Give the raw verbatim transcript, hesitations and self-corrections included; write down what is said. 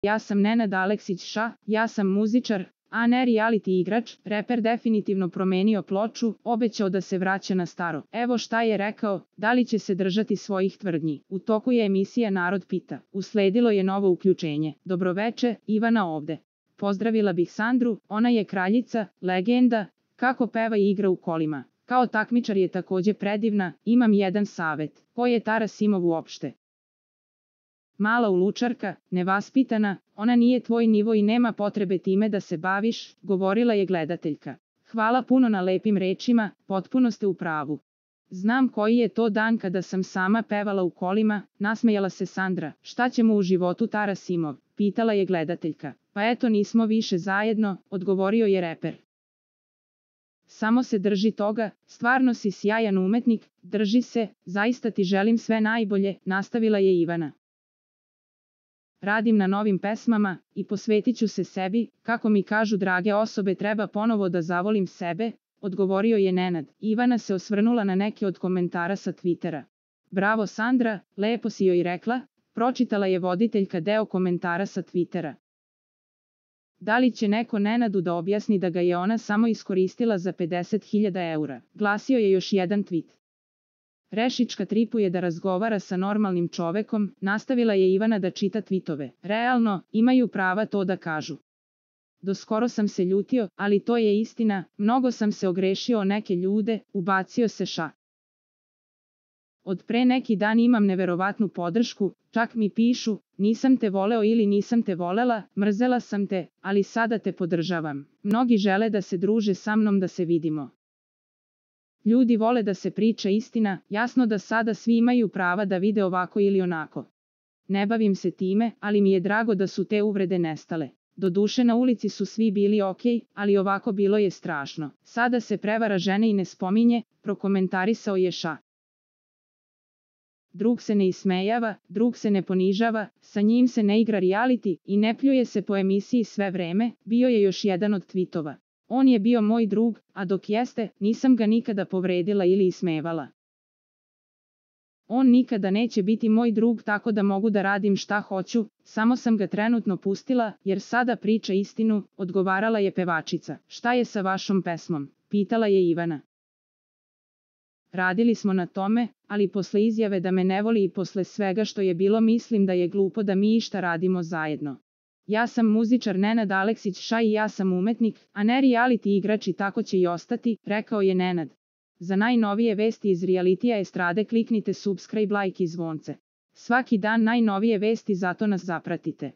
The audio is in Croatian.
Ja sam Nenad Aleksić Ša, ja sam muzičar, a ne reality igrač. Reper definitivno promenio ploču, obećao da se vraća na staro. Evo šta je rekao, da li će se držati svojih tvrdnji. U toku je emisija Narod pita. Usledilo je novo uključenje. Dobroveče, Ivana ovde. Pozdravila bih Sandru, ona je kraljica, legenda, kako peva i igra u kolima. Kao takmičar je takođe predivna, imam jedan savet. Ko je Tara Simov uopšte? Mala ulučarka, nevaspitana, ona nije tvoj nivo i nema potrebe time da se baviš, govorila je gledateljka. Hvala puno na lepim rečima, potpuno ste u pravu. Znam koji je to dan kada sam sama pevala u kolima, nasmejala se Sandra. Šta ćemo u životu Tara Simov? Pitala je gledateljka. Pa eto nismo više zajedno, odgovorio je reper. Samo se drži toga, stvarno si sjajan umetnik, drži se, zaista ti želim sve najbolje, nastavila je Ivana. Radim na novim pesmama i posvetit ću se sebi, kako mi kažu drage osobe treba ponovo da zavolim sebe, odgovorio je Nenad. Ivana se osvrnula na neke od komentara sa Twittera. Bravo Sandra, lepo si joj rekla, pročitala je voditeljka deo komentara sa Twittera. Da li će neko Nenadu da objasni da ga je ona samo iskoristila za pedeset hiljada eura, glasio je još jedan tweet. Rešička tripuje da razgovara sa normalnim čovekom, nastavila je Ivana da čita tvitove. Realno, imaju prava to da kažu. Doskoro sam se ljutio, ali to je istina, mnogo sam se ogrešio o neke ljude, ubacio se Ša. Od pre neki dan imam neverovatnu podršku, čak mi pišu, nisam te voleo ili nisam te volela, mrzela sam te, ali sada te podržavam. Mnogi žele da se druže sa mnom da se vidimo. Ljudi vole da se priča istina, jasno da sada svi imaju prava da vide ovako ili onako. Ne bavim se time, ali mi je drago da su te uvrede nestale. Doduše na ulici su svi bili okej, ali ovako bilo je strašno. Sada se prevara žene i ne spominje, prokomentarisao je Ša. Drug se ne ismejava, drug se ne ponižava, sa njim se ne igra reality i ne pljuje se po emisiji sve vreme, bio je još jedan od tvitova. On je bio moj drug, a dok jeste, nisam ga nikada povredila ili ismevala. On nikada neće biti moj drug tako da mogu da radim šta hoću, samo sam ga trenutno pustila, jer sada priča istinu, odgovarala je pevačica. Šta je sa vašom pesmom? Pitala je Ivana. Radili smo na tome, ali posle izjave da me ne voli i posle svega što je bilo mislim da je glupo da mi išta radimo zajedno. Ja sam muzičar Nenad Aleksić Ša i ja sam umetnik, a ne reality igrač i tako će i ostati, rekao je Nenad. Za najnovije vesti iz realitija estrade kliknite subscribe, like i zvonce. Svaki dan najnovije vesti, zato nas zapratite.